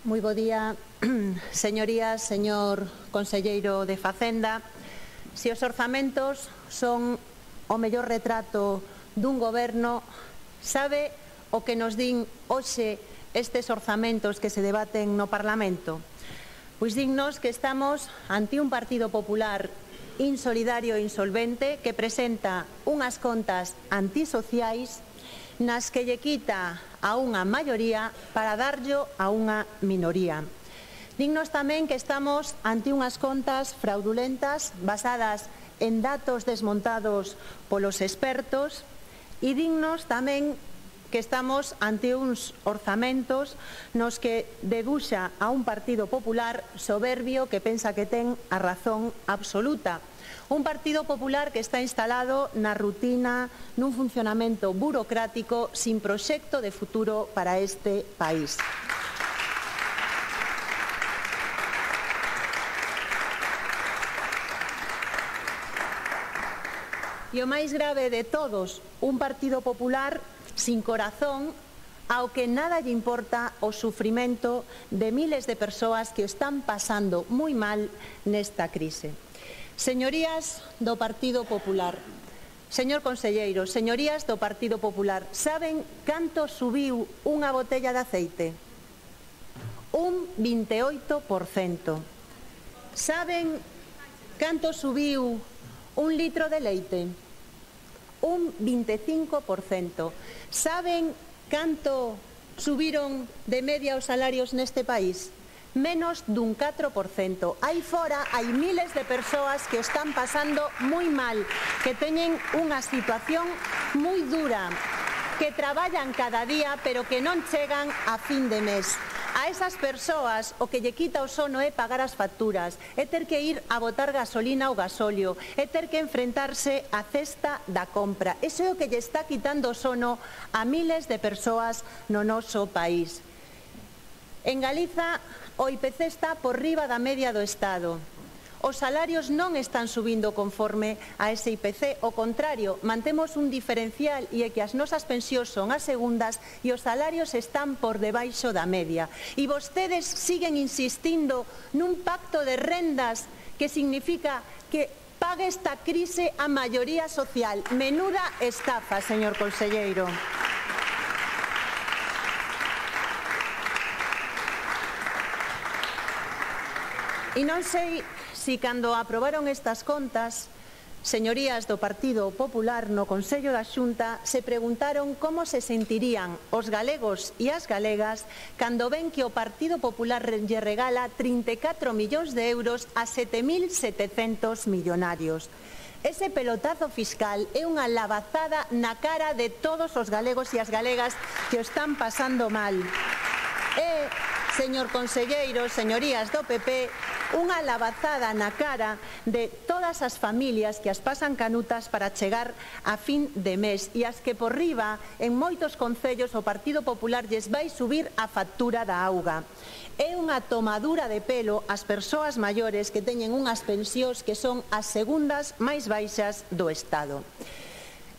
Moi bo día, señorías, señor conselleiro de Facenda. Se os orzamentos son o mellor retrato dun goberno, sabe o que nos din hoxe estes orzamentos que se debaten no Parlamento? Pois dignos que estamos ante un Partido Popular insolidario e insolvente que presenta unhas contas antisociais nas que lle quita a unha maioría para darllo a unha minoría. Dignos tamén que estamos ante unhas contas fraudulentas basadas en datos desmontados polos expertos e dignos tamén que estamos ante uns orzamentos nos que debuxa a un Partido Popular soberbio que pensa que ten a razón absoluta. Un Partido Popular que está instalado na rutina, nun funcionamento burocrático sin proxecto de futuro para este país. E o máis grave de todos, un Partido Popular sin corazón, ao que nada lle importa o sufrimento de miles de persoas que o están pasando moi mal nesta crise. Señorías do Partido Popular, señor conselleiro, señorías do Partido Popular, saben canto subiu unha botella de aceite? Un 28%. Saben canto subiu un litro de leite? Un 25%. Saben canto subiron de media os salarios neste país? Menos dun 4%. Aí fora hai miles de persoas que están pasando moi mal, que teñen unha situación moi dura, que traballan cada día pero que non chegan a fin de mes. A esas persoas o que lle quita o sono é pagar as facturas, é ter que ir a botar gasolina ou gasóleo, é ter que enfrentarse á cesta da compra. Iso é o que lle está quitando o sono a miles de persoas no noso país. En Galiza o IPC está por riba da media do Estado. Os salarios non están subindo conforme a ese IPC, ao contrario, mantemos un diferencial e é que as nosas pensións son as segundas e os salarios están por debaixo da media. E vostedes siguen insistindo nun pacto de rendas que significa que pague esta crise a maioría social. Menuda estafa, señor conselleiro. E non sei se cando aprobaron estas contas, señorías do Partido Popular no Consello da Xunta se preguntaron como se sentirían os galegos e as galegas cando ven que o Partido Popular lle regala 34 millóns de euros a 7.700 millonarios. Ese pelotazo fiscal é unha lavazada na cara de todos os galegos e as galegas que o están pasando mal. E, señor conselleiro, señorías do PP, unha lavazada na cara de todas as familias que as pasan canutas para chegar a fin de mes e as que por riba en moitos concellos o Partido Popular lles vai subir a factura da auga. É unha tomadura de pelo ás persoas maiores que teñen unhas pensións que son as segundas máis baixas do Estado.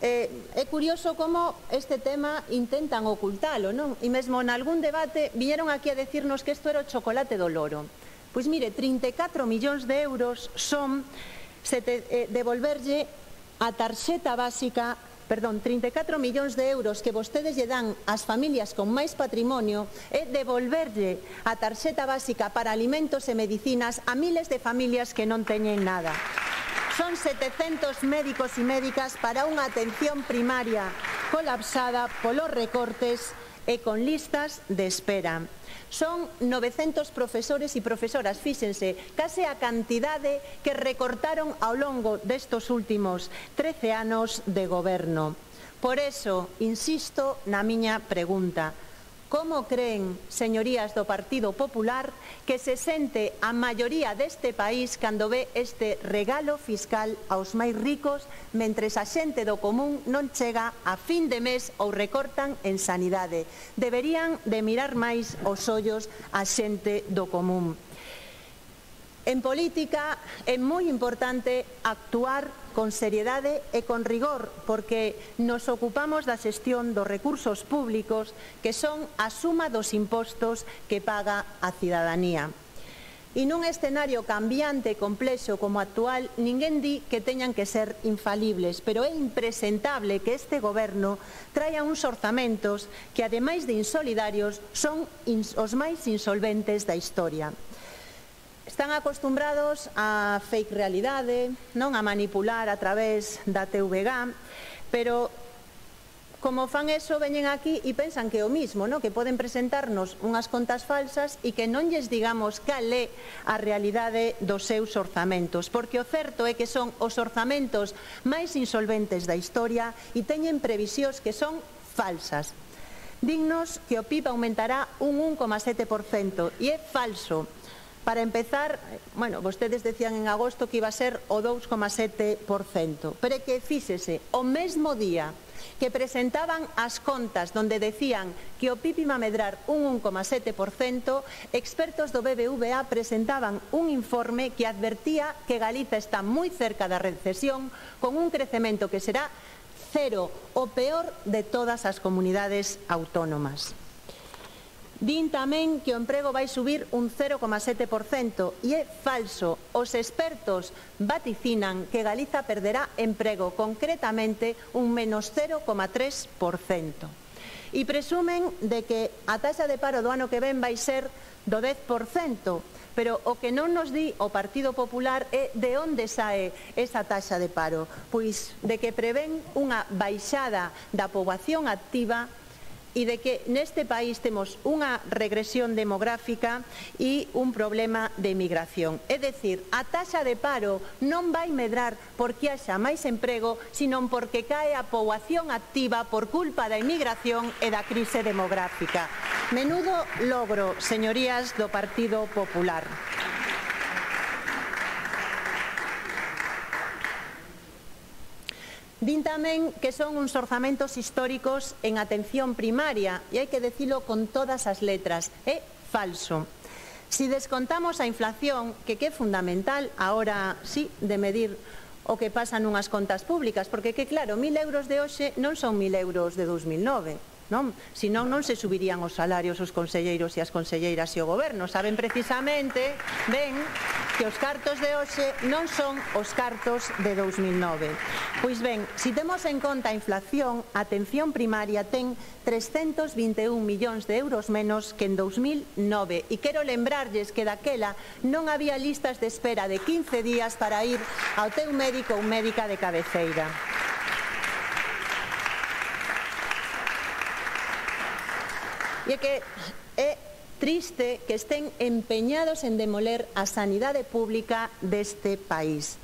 É curioso como este tema intentan ocultalo, non? E mesmo en algún debate viñeron aquí a decirnos que isto era o chocolate do loro. Pois mire, 34 millóns de euros son devolverlle a tarxeta básica, perdón, 34 millóns de euros que vostedes lle dan ás familias con máis patrimonio é devolverlle a tarxeta básica para alimentos e medicinas a miles de familias que non teñen nada. Son 700 médicos e médicas para unha atención primaria colapsada polos recortes e con listas de espera. Son 900 profesores e profesoras, fíxense, case a cantidade que recortaron ao longo destos últimos 13 anos de goberno. Por eso, insisto na miña pregunta. Como creen, señorías do Partido Popular, que se sente a maioría deste país cando ve este regalo fiscal aos máis ricos, mentres a xente do común non chega a fin de mes ou recortan en sanidade? Deberían de mirar máis os ollos a xente do común. En política é moi importante actuar con seriedade e con rigor, porque nos ocupamos da xestión dos recursos públicos que son a suma dos impostos que paga a cidadanía. E nun escenario cambiante e complexo como actual, ninguén di que teñan que ser infalibles, pero é impresentable que este goberno traia uns orzamentos que, ademais de insolidarios, son os máis insolventes da historia. Están acostumbrados a fake realidade, non a manipular a través da TVG, pero como fan eso, veñen aquí e pensan que é o mismo, que poden presentarnos unhas contas falsas e que non lles digamos cal é a realidade dos seus orzamentos, porque o certo é que son os orzamentos máis insolventes da historia e teñen previsións que son falsas. Dignos que o PIB aumentará un 1,7% e é falso. Para empezar, vostedes decían en agosto que iba a ser o 2,7%, pero é que, fíxese, o mesmo día que presentaban as contas donde decían que o PIB iba a medrar un 1,7%, expertos do BBVA presentaban un informe que advertía que Galiza está moi cerca da recesión, con un crecemento que será cero, o peor de todas as comunidades autónomas. Din tamén que o emprego vai subir un 0,7% e é falso. Os expertos vaticinan que Galiza perderá emprego, concretamente un menos 0,3%. E presumen de que a taxa de paro do ano que ven vai ser do 10%, pero o que non nos di o Partido Popular é de onde sae esa taxa de paro, pois de que prevén unha baixada da poboación activa e de que neste país temos unha regresión demográfica e un problema de emigración. É dicir, a taxa de paro non vai medrar porque haxa máis emprego, sino porque cae a poboación activa por culpa da emigración e da crise demográfica. Menudo logro, señorías do Partido Popular. Din tamén que son uns orzamentos históricos en atención primaria e hai que dicilo con todas as letras, é falso. Si descontamos a inflación, que é fundamental agora sí de medir o que pasa nunhas contas públicas, porque claro, 1.000 euros de hoxe non son 1.000 euros de 2009, senón non se subirían os salarios os conselleiros e as conselleiras e o goberno. Saben precisamente ben que os cartos de hoxe non son os cartos de 2009. Pois ben, si temos en conta a inflación, a atención primaria ten 321 millóns de euros menos que en 2009. E quero lembrarlles que daquela non había listas de espera de 15 días para ir ao teu médico ou médica de cabeceira. E é que é triste que estén empeñados en demoler a sanidade pública deste país.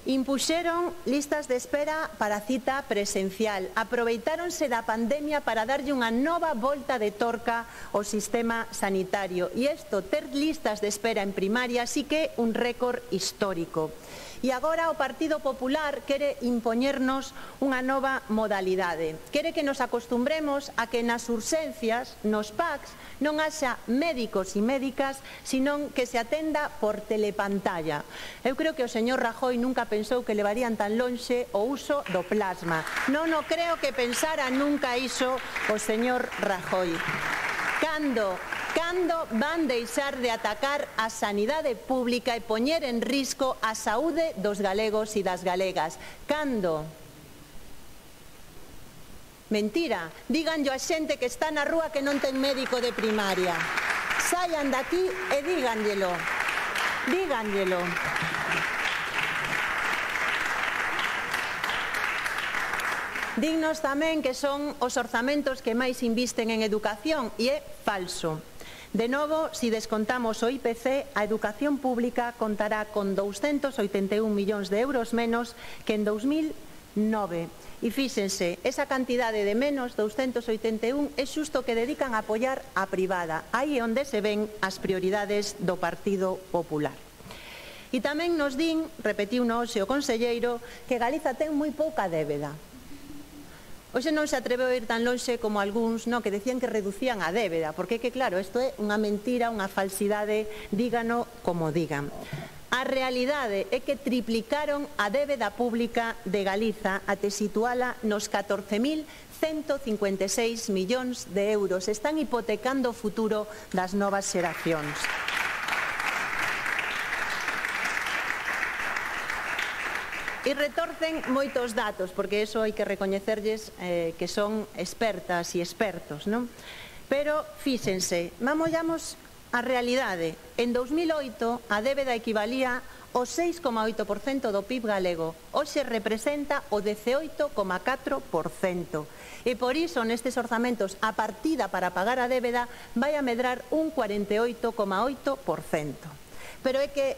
Impuxeron listas de espera para cita presencial, aproveitáronse da pandemia para darlle unha nova volta de torca ao sistema sanitario. E isto, ter listas de espera en primaria, sí que é un récord histórico. E agora o Partido Popular quere impoñernos unha nova modalidade. Quere que nos acostumbremos a que nas urxencias, nos PACs, non haxa médicos e médicas, senón que se atenda por telepantalla. Eu creo que o señor Rajoy nunca pensou que levarían tan lonxe o uso do plasma. Non o creo que pensara nunca iso o señor Rajoy. Cando van deixar de atacar a sanidade pública e poñer en risco a saúde dos galegos e das galegas? Cando? Mentira, díganllo a xente que está na rúa que non ten médico de primaria. Saian daqui e díganllelo. Díganllelo. Dignos tamén que son os orzamentos que máis invisten en educación e é falso. De novo, si descontamos o IPC, a educación pública contará con 281 millóns de euros menos que en 2009. E fíxense, esa cantidade de menos, 281, é xusto que dedican a apoiar a privada. Aí é onde se ven as prioridades do Partido Popular. E tamén nos din, repetiu hoxe o conselleiro, que Galiza ten moi pouca débeda. Hoxe non se atreveu a ir tan lonxe como algúns que decían que reducían a débeda, porque que claro, isto é unha mentira, unha falsidade, dígano como digan. A realidade é que triplicaron a débeda pública de Galiza até situala nos 14.156 millóns de euros. Están hipotecando o futuro das novas xeracións. E retorcen moitos datos, porque iso hai que recoñecerlles que son expertas e expertos, non? Pero, fíxense, vamos a realidade. En 2008 a débeda equivalía ao 6,8% do PIB galego. Hoxe representa o 18,4%. E por iso, nestes orzamentos, a partida para pagar a débeda vai a medrar un 48,8%. Pero é que,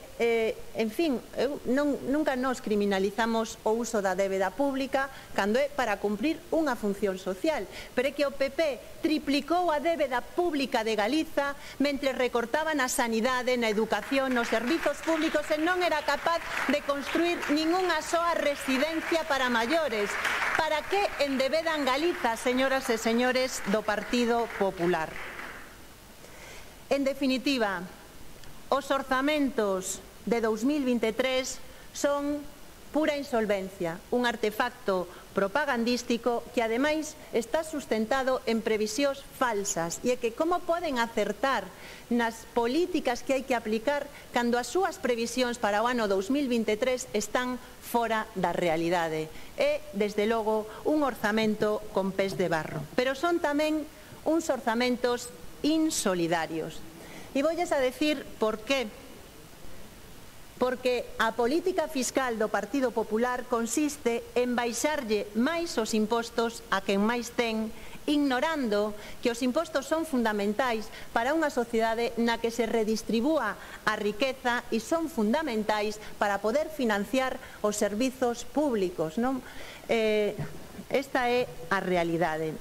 en fin, nunca nos criminalizamos o uso da débeda pública cando é para cumprir unha función social. Pero é que o PP triplicou a débeda pública de Galiza mentre recortaba na sanidade, na educación, nos servizos públicos e non era capaz de construir ningunha soa residencia para maiores. Para que endebedan Galiza, señoras e señores do Partido Popular? En definitiva, os orzamentos de 2023 son pura insolvencia, un artefacto propagandístico que ademais está sustentado en previsións falsas. E é que como poden acertar nas políticas que hai que aplicar cando as súas previsións para o ano 2023 están fora da realidade? É, desde logo, un orzamento con pés de barro. Pero son tamén uns orzamentos insolidarios. E voulles a decir por qué. Porque a política fiscal do Partido Popular consiste en baixarlle máis os impostos a quen máis ten, ignorando que os impostos son fundamentais para unha sociedade na que se redistribúa a riqueza e son fundamentais para poder financiar os servizos públicos, non? Esta é a realidade.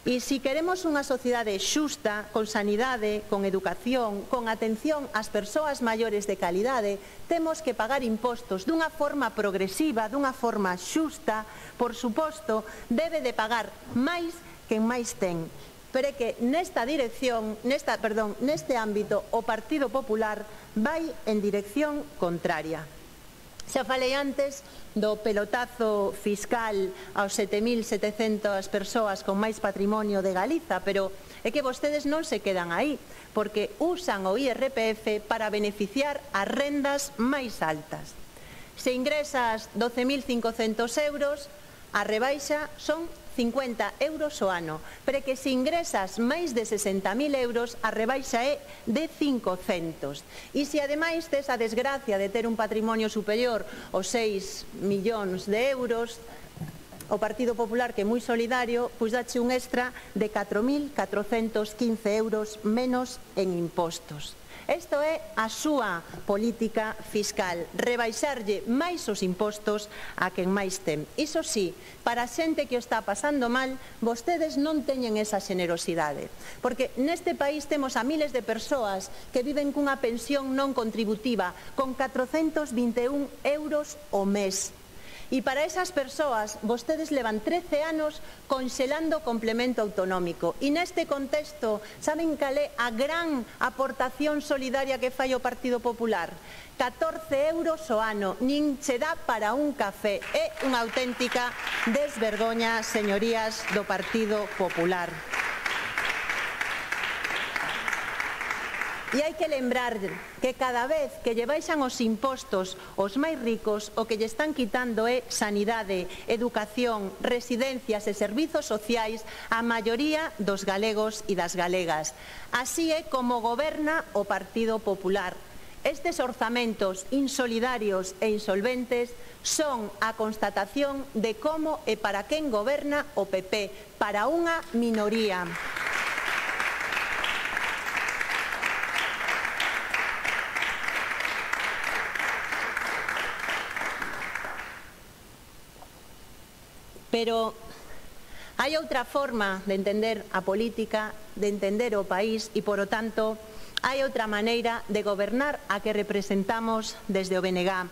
E se queremos unha sociedade xusta, con sanidade, con educación, con atención ás persoas maiores de calidade, temos que pagar impostos dunha forma progresiva, dunha forma xusta. Por suposto, debe de pagar máis quen máis ten. Pero é que neste ámbito o Partido Popular vai en dirección contraria. Xa falei antes do pelotazo fiscal aos 7.700 persoas con máis patrimonio de Galiza, pero é que vostedes non se quedan aí, porque usan o IRPF para beneficiar as rendas máis altas. Se ingresas 12.500 euros, a rebaixa son 50 euros o ano, pero que se ingresas máis de 60.000 euros, a rebaixa é de 500. E se ademais tes a desgracia de ter un patrimonio superior aos 6 millóns de euros, o Partido Popular, que é moi solidario, pois dache un extra de 4.415 euros menos en impostos. Isto é a súa política fiscal, rebaixarlle máis os impostos a quen máis ten. Iso sí, para a xente que o está pasando mal, vostedes non teñen esa xenerosidade. Porque neste país temos a miles de persoas que viven cunha pensión non contributiva con 421 euros ao mes. E para esas persoas, vostedes levan 13 anos conxelando o complemento autonómico. E neste contexto, saben cal é a gran aportación solidaria que fai o Partido Popular? 14 euros ao ano, nin se dá para un café. É unha auténtica desvergoña, señorías do Partido Popular. E hai que lembrar que cada vez que lle baixan os impostos aos máis ricos, o que lle están quitando é sanidade, educación, residencias e servizos sociais á maioría dos galegos e das galegas. Así é como goberna o Partido Popular. Estes orzamentos insolidarios e insolventes son a constatación de como e para quen goberna o PP, para unha minoría. Pero hai outra forma de entender a política, de entender o país e, polo tanto, hai outra maneira de gobernar a que representamos desde o BNG.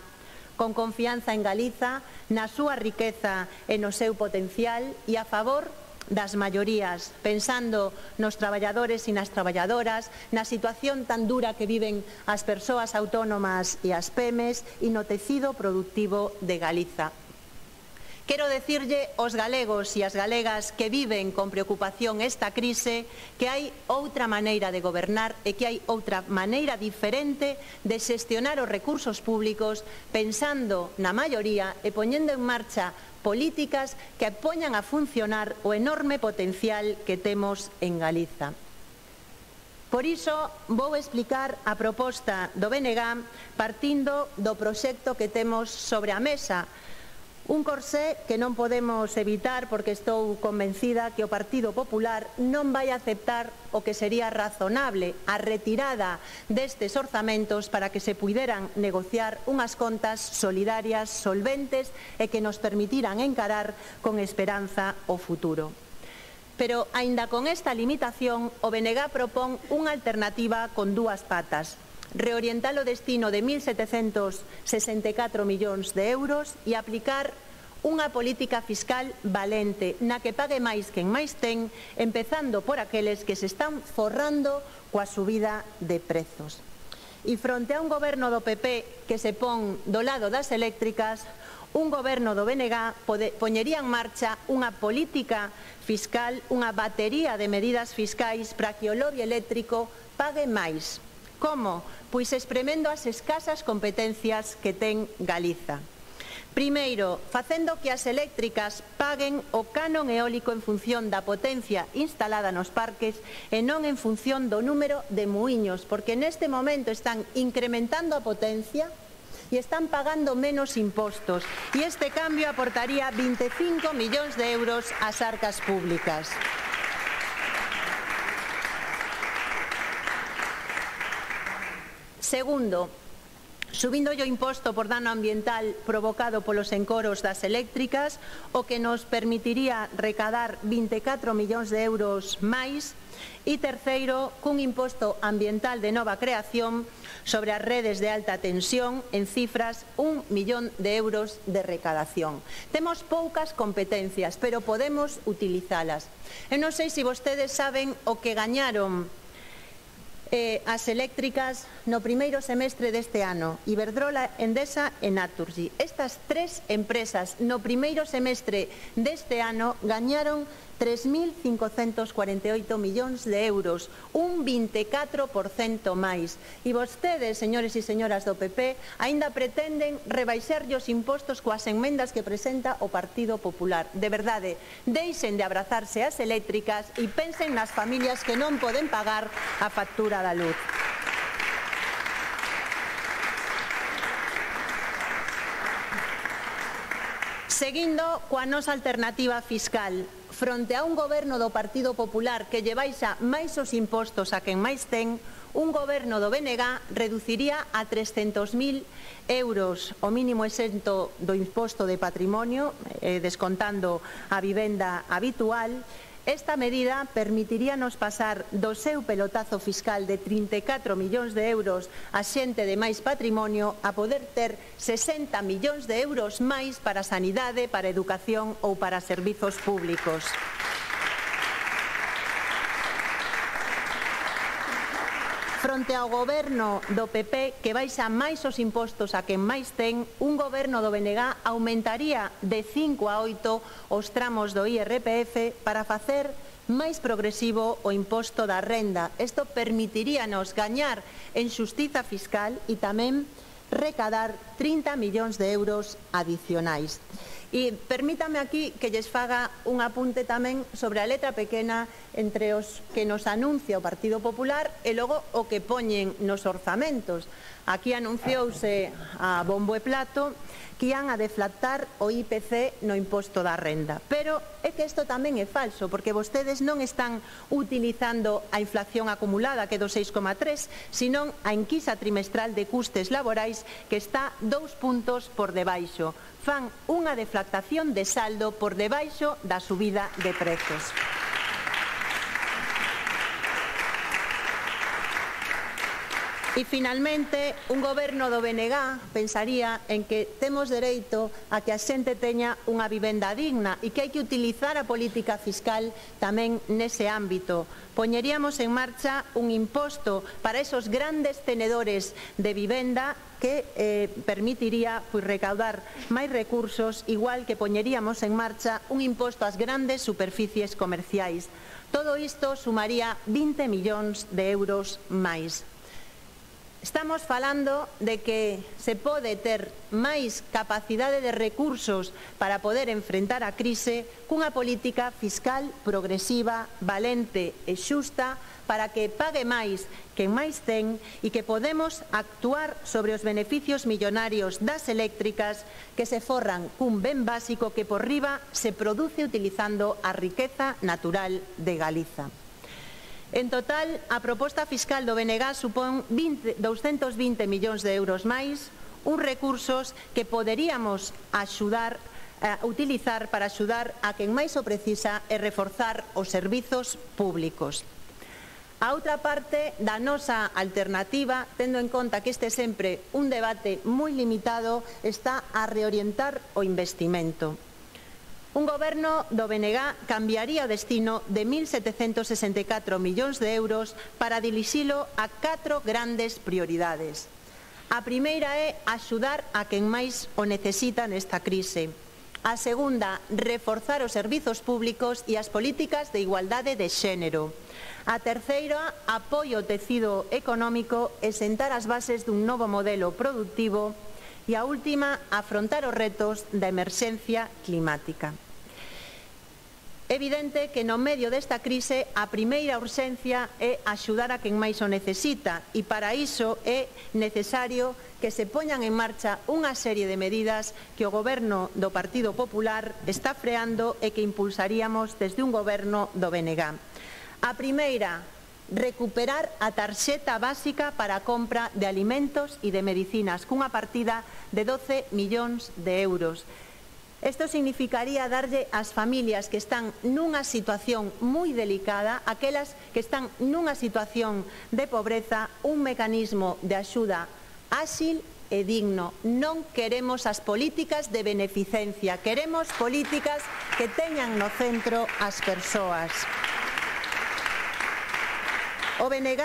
con confianza en Galiza, na súa riqueza e no seu potencial e a favor das maiorías, pensando nos traballadores e nas traballadoras, na situación tan dura que viven as persoas autónomas e as PEMES e no tecido productivo de Galiza. Quero decirlle aos galegos e as galegas que viven con preocupación esta crise que hai outra maneira de gobernar e que hai outra maneira diferente de xestionar os recursos públicos pensando na maioría e poñendo en marcha políticas que poñan a funcionar o enorme potencial que temos en Galiza. Por iso, vou explicar a proposta do BNG partindo do proxecto que temos sobre a mesa. Un corsé que non podemos evitar porque estou convencida que o Partido Popular non vai aceptar o que sería razonable a retirada destes orzamentos para que se puideran negociar unhas contas solidarias, solventes e que nos permitiran encarar con esperanza o futuro. Pero, aínda con esta limitación, o BNG propón unha alternativa con dúas patas. Reorientar o destino de 1.764 millóns de euros e aplicar unha política fiscal valente na que pague máis quen máis ten, empezando por aqueles que se están forrando coa subida de prezos. E fronte a un goberno do PP que se pon do lado das eléctricas, un goberno do BNG poñería en marcha unha política fiscal, unha batería de medidas fiscais para que o lobby eléctrico pague máis. Como? Pois espremendo as escasas competencias que ten Galiza. Primeiro, facendo que as eléctricas paguen o canon eólico en función da potencia instalada nos parques e non en función do número de muiños, porque neste momento están incrementando a potencia e están pagando menos impostos. E este cambio aportaría 25 millóns de euros ás arcas públicas. Segundo, subindo o imposto por dano ambiental provocado polos encoros das eléctricas, o que nos permitiría recadar 24 millóns de euros máis. E terceiro, cun imposto ambiental de nova creación sobre as redes de alta tensión en cifras 1 millón de euros de recadación. Temos poucas competencias, pero podemos utilizalas. Eu non sei se vostedes saben o que gañaron as eléctricas no primeiro semestre deste ano, Iberdrola, Endesa e Naturgy. Estas tres empresas no primeiro semestre deste ano gañaron 3.548 millóns de euros, un 24% máis. E vostedes, señores e señoras do PP, aínda pretenden rebaixarlle os impostos coas enmendas que presenta o Partido Popular. De verdade, deixen de abrazarse ás eléctricas e pensen nas familias que non poden pagar a factura da luz. Seguindo coa nosa alternativa fiscal, fronte a un goberno do Partido Popular que lle baixa máis os impostos a quen máis ten, un goberno do BNG reduciría a 300.000 euros o mínimo exento do imposto de patrimonio, descontando a vivenda habitual. Esta medida permitiríanos pasar do seu pelotazo fiscal de 34 millóns de euros a xente de máis patrimonio a poder ter 60 millóns de euros máis para sanidade, para educación ou para servizos públicos. Fronte ao goberno do PP que baixa máis os impostos a quen máis ten, un goberno do BNG aumentaría de 5 a 8 os tramos do IRPF para facer máis progresivo o imposto da renda. Isto permitiríanos gañar en xustiza fiscal e tamén recadar 30 millóns de euros adicionais. E permítame aquí que lles faga un apunte tamén sobre a letra pequena entre os que nos anuncia o Partido Popular e logo o que poñen nos orzamentos. Aquí anunciouse a bombo e plato que ian a deflactar o IPC no imposto da renda. Pero é que isto tamén é falso, porque vostedes non están utilizando a inflación acumulada, que é do 6,3, senón a enquisa trimestral de custes laborais, que está 2 puntos por debaixo. Fan unha deflactación de saldo por debaixo da subida de prezos. E, finalmente, un goberno do BNG pensaría en que temos dereito a que a xente teña unha vivenda digna e que hai que utilizar a política fiscal tamén nese ámbito. Poñeríamos en marcha un imposto para esos grandes tenedores de vivenda que permitiría recaudar máis recursos, igual que poñeríamos en marcha un imposto ás grandes superficies comerciais. Todo isto sumaría 20 millóns de euros máis. Estamos falando de que se pode ter máis capacidade de recursos para poder enfrentar a crise cunha política fiscal progresiva, valente e xusta para que pague máis quen máis ten e que podemos actuar sobre os beneficios millonarios das eléctricas que se forran cun ben básico que por riba se produce utilizando a riqueza natural de Galiza. En total, a proposta fiscal do BNG supón 220 millóns de euros máis, uns recursos que poderíamos utilizar para axudar a quen máis o precisa e reforzar os servizos públicos. A outra parte da nosa alternativa, tendo en conta que este é sempre un debate moi limitado, está a reorientar o investimento. Un goberno do BNG cambiaría o destino de 1.764 millóns de euros para dirixilo a 4 grandes prioridades. A primeira é axudar a quen máis o necesita nesta crise. A segunda, reforzar os servizos públicos e as políticas de igualdade de xénero. A terceira, apoio ao tecido económico e sentar as bases dun novo modelo productivo. E a última, afrontar os retos da emerxencia climática. É evidente que no medio desta crise a primeira urxencia é axudar a quen máis o necesita e para iso é necesario que se poñan en marcha unha serie de medidas que o goberno do Partido Popular está freando e que impulsaríamos desde un goberno do BNG. A primeira, recuperar a tarxeta básica para a compra de alimentos e de medicinas cunha partida de 12 millóns de euros. Isto significaría darlle ás familias que están nunha situación moi delicada, aquelas que están nunha situación de pobreza, un mecanismo de axuda áxil e digno. Non queremos as políticas de beneficencia, queremos políticas que teñan no centro as persoas. O BNG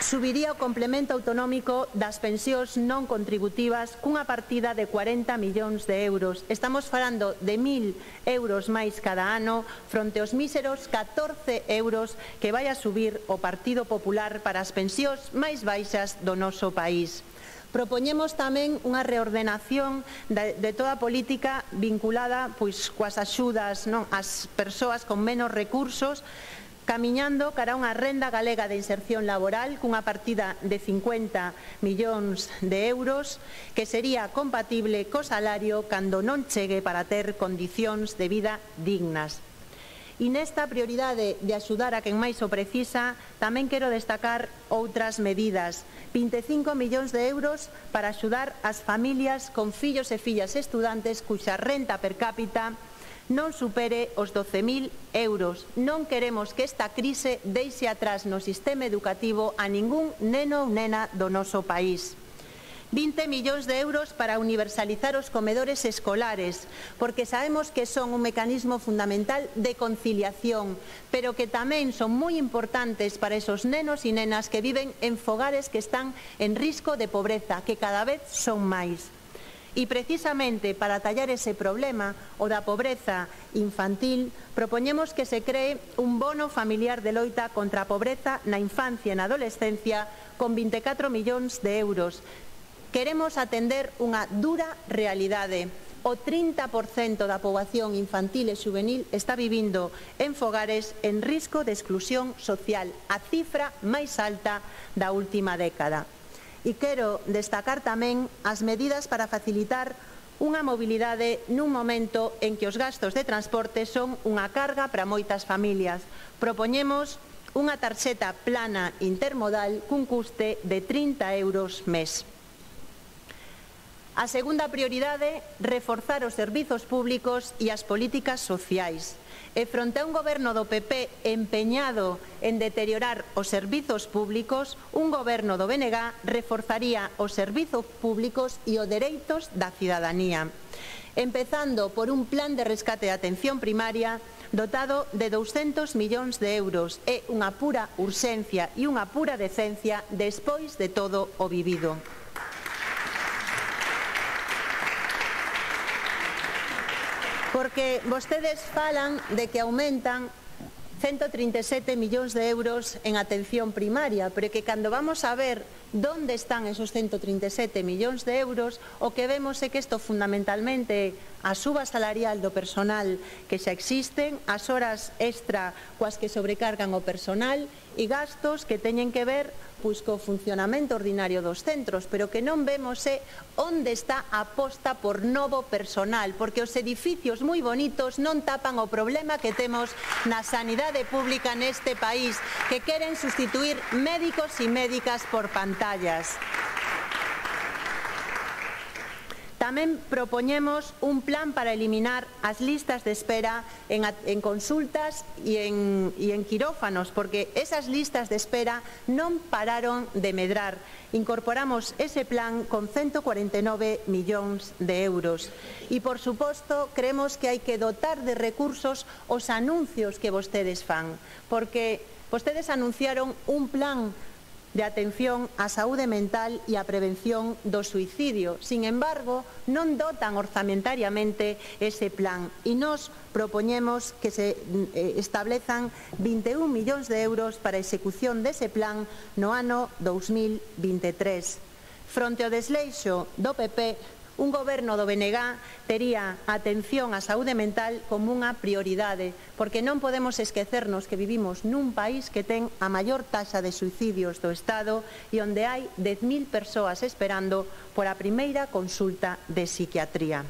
subiría o complemento autonómico das pensións non contributivas cunha partida de 40 millóns de euros. Estamos falando de 1.000 euros máis cada ano fronte aos míseros 14 euros que vai a subir o Partido Popular para as pensións máis baixas do noso país. Propoñemos tamén unha reordenación de toda a política vinculada coas axudas ás persoas con menos recursos, camiñando cara a unha renda galega de inserción laboral cunha partida de 50 millóns de euros que sería compatible co salario cando non chegue para ter condicións de vida dignas. E nesta prioridade de axudar a quen máis o precisa, tamén quero destacar outras medidas. 25 millóns de euros para axudar as familias con fillos e fillas estudantes cuxa renta per cápita non supere os 12.000 euros. Non queremos que esta crise deixe atrás no sistema educativo a ningún neno ou nena do noso país. 20 millóns de euros para universalizar os comedores escolares, porque sabemos que son un mecanismo fundamental de conciliación, pero que tamén son moi importantes para esos nenos e nenas que viven en fogares que están en risco de pobreza, que cada vez son máis. E precisamente para tallar ese problema, o da pobreza infantil, propoñemos que se cree un bono familiar de loita contra a pobreza na infancia e na adolescencia con 24 millóns de euros. Queremos atender unha dura realidade. O 30% da poboación infantil e xuvenil está vivindo en fogares en risco de exclusión social, a cifra máis alta da última década. E quero destacar tamén as medidas para facilitar unha mobilidade nun momento en que os gastos de transporte son unha carga para moitas familias. Propoñemos unha tarxeta plana intermodal cun custe de 30 euros mes. A segunda prioridade, reforzar os servizos públicos e as políticas sociais. E fronte a un goberno do PP empeñado en deteriorar os servizos públicos, un goberno do BNG reforzaría os servizos públicos e os dereitos da cidadanía, empezando por un plan de rescate de atención primaria dotado de 200 millóns de euros. É unha pura urxencia e unha pura decencia despois de todo o vivido. Porque vostedes falan de que aumentan 137 millóns de euros en atención primaria, pero que cando vamos a ver onde están esos 137 millóns de euros, o que vemos é que isto fundamentalmente a suba salarial do personal que xa existen, as horas extra coas que sobrecargan o personal e gastos que teñen que ver co funcionamento ordinario dos centros, pero que non vemos é onde está a aposta por novo personal, porque os edificios moi bonitos non tapan o problema que temos na sanidade pública neste país, que queren sustituir médicos e médicas por pantallas. Tamén propoñemos un plan para eliminar as listas de espera en consultas e en quirófanos, porque esas listas de espera non pararon de medrar. Incorporamos ese plan con 149 millóns de euros. E, por suposto, creemos que hai que dotar de recursos os anuncios que vostedes fan, porque vostedes anunciaron un plan de atención á saúde mental e á prevención do suicidio. Sin embargo, non dotan orzamentariamente ese plan e nos propoñemos que se establezan 21 millóns de euros para a execución dese plan no ano 2023. Fronte ao desleixo do PP, un goberno do BNG tería a atención á saúde mental como unha prioridade, porque non podemos esquecernos que vivimos nun país que ten a maior taxa de suicidios do Estado e onde hai 10.000 persoas esperando por a primeira consulta de psiquiatría.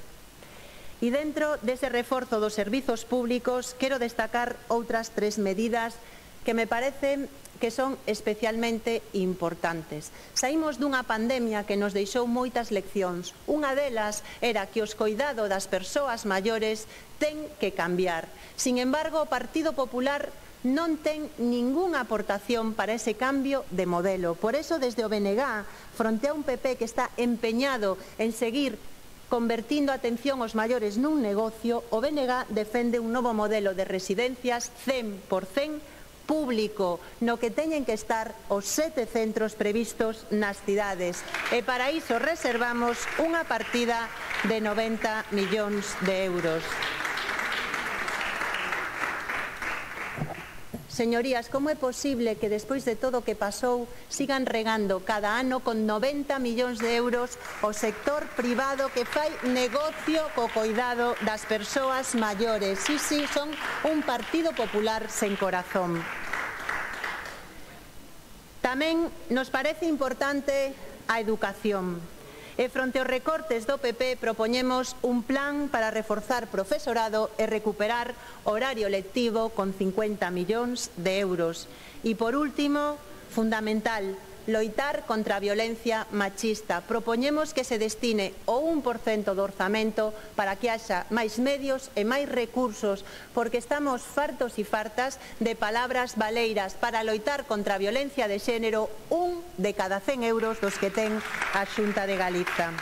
E dentro dese reforzo dos servizos públicos quero destacar outras 3 medidas que me parecen que son especialmente importantes. Saímos dunha pandemia que nos deixou moitas leccións. Unha delas era que os coidados das persoas maiores ten que cambiar. Sin embargo, o Partido Popular non ten ningunha aportación para ese cambio de modelo. Por eso, desde o BNG, fronte a un PP que está empeñado en seguir convertindo a atención aos maiores nun negocio, o BNG defende un novo modelo de residencias 100% público, no que teñen que estar os 7 centros previstos nas cidades. E para iso reservamos unha partida de 90 millóns de euros. Señorías, como é posible que despois de todo o que pasou sigan regando cada ano con 90 millóns de euros o sector privado que fai negocio co coidado das persoas maiores? Sí, son un Partido Popular sen corazón. Tamén nos parece importante a educación. E fronte aos recortes do PP propoñemos un plan para reforzar profesorado e recuperar horario lectivo con 50 millóns de euros. E por último, fundamental, loitar contra a violencia machista. Propoñemos que se destine o 1% do orzamento para que haxa máis medios e máis recursos, porque estamos fartos e fartas de palabras baleiras para loitar contra a violencia de xénero, 1 de cada 100 euros dos que ten a Xunta de Galiza.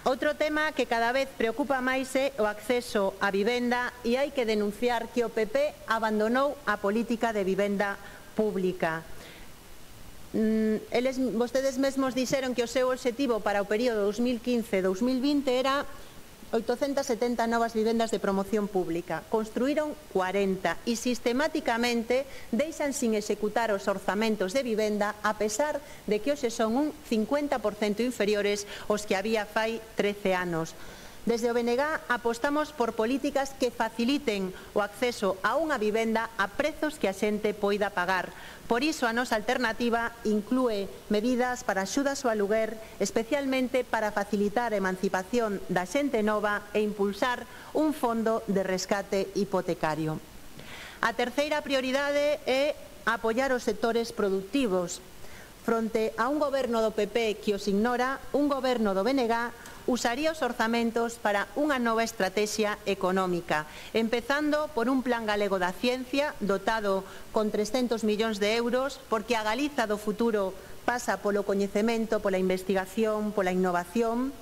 Outro tema que cada vez preocupa máis é o acceso á vivenda e hai que denunciar que o PP abandonou a política de vivenda pública. Vostedes mesmos dixeron que o seu obxectivo para o período 2015-2020 era 870 novas vivendas de promoción pública. Construíron 40 e sistemáticamente deixan sin executar os orzamentos de vivenda a pesar de que hoxe son un 50% inferiores aos que había fai 13 anos. Desde o BNG apostamos por políticas que faciliten o acceso a unha vivenda a prezos que a xente poida pagar. Por iso a nosa alternativa inclúe medidas para axudas ao aluguer, especialmente para facilitar a emancipación da xente nova e impulsar un fondo de rescate hipotecario. A terceira prioridade é apoiar os sectores productivos. fronte a un goberno do PP que os ignora, un goberno do BNG usaría os orzamentos para unha nova estratexia económica, empezando por un plan galego da ciencia dotado con 300 millóns de euros, porque a Galiza do futuro pasa polo coñecemento, pola investigación, pola innovación.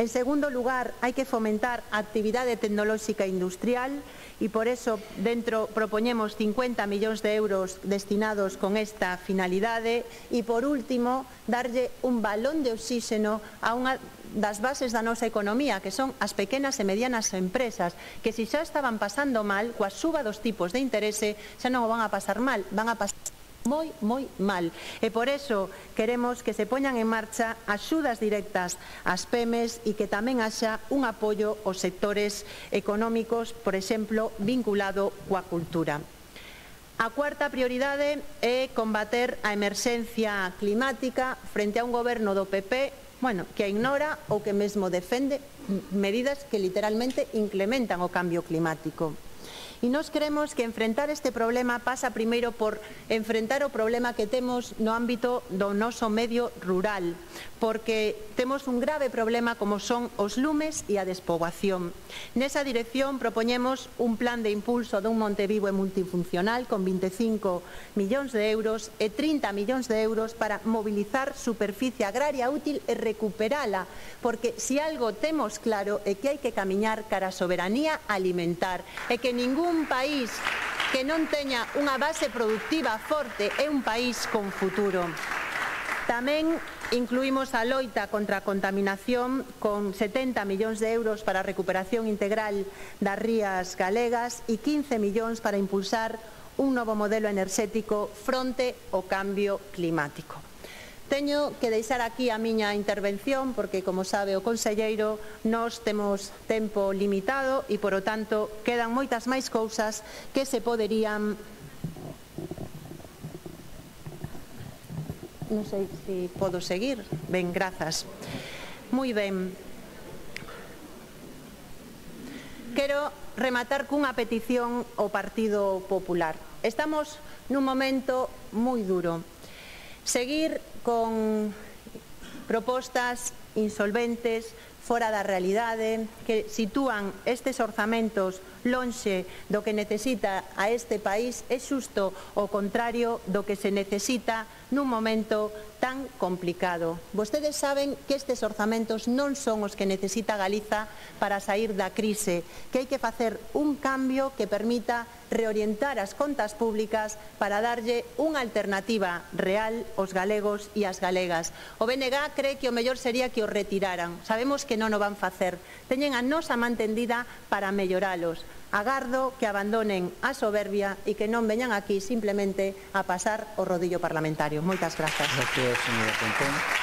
En segundo lugar, hai que fomentar a actividade tecnolóxica industrial e por eso dentro propoñemos 50 millóns de euros destinados con esta finalidade e por último, darlle un balón de oxígeno a unha das bases da nosa economía, que son as pequenas e medianas empresas, que se xa estaban pasando mal, coa suba dos tipos de interese, xa non o van a pasar mal, van a pasar moi mal. E por eso queremos que se poñan en marcha axudas directas ás PEMES e que tamén haxa un apoio aos sectores económicos, por exemplo, vinculado coa cultura. A cuarta prioridade é combater a emerxencia climática frente a un goberno do PP que ignora ou que mesmo defende medidas que literalmente incrementan o cambio climático. E nós creemos que enfrentar este problema pasa primeiro por enfrentar o problema que temos no ámbito do noso medio rural, porque temos un grave problema como son os lumes e a despoboación. Nesa dirección propoñemos un plan de impulso dun Monte Vivo e multifuncional con 25 millóns de euros e 30 millóns de euros para mobilizar superficie agraria útil e recuperala, porque se algo temos claro é que hai que camiñar cara a soberanía alimentar e que ningún país que non teña unha base productiva forte é un país con futuro. Tamén incluímos a loita contra a contaminación con 70 millóns de euros para a recuperación integral das rías galegas e 15 millóns para impulsar un novo modelo enerxético fronte ao cambio climático. Teño que deixar aquí a miña intervención porque, como sabe o conselleiro, nós temos tempo limitado e, polo tanto, quedan moitas máis cousas que se poderían... Non sei se podo seguir. Ben, grazas. Moi ben. Quero rematar cunha petición ao Partido Popular. Estamos nun momento moi duro. Seguir con propostas insolventes, fora da realidade, que sitúan estes orzamentos lonxe do que necesita a este país, é xusto o contrario do que se necesita nun momento tan complicado. Vostedes saben que estes orzamentos non son os que necesita Galiza para sair da crise, que hai que facer un cambio que permita reorientar as contas públicas para darlle unha alternativa real aos galegos e ás galegas. O BNG cree que o mellor sería que o retiraran. Sabemos que non o van facer. Teñen a nosa man tendida para melloralos. Agardo que abandonen a soberbia e que non veñan aquí simplemente a pasar o rodillo parlamentario. Moitas grazas. Gracias, señora Pontón.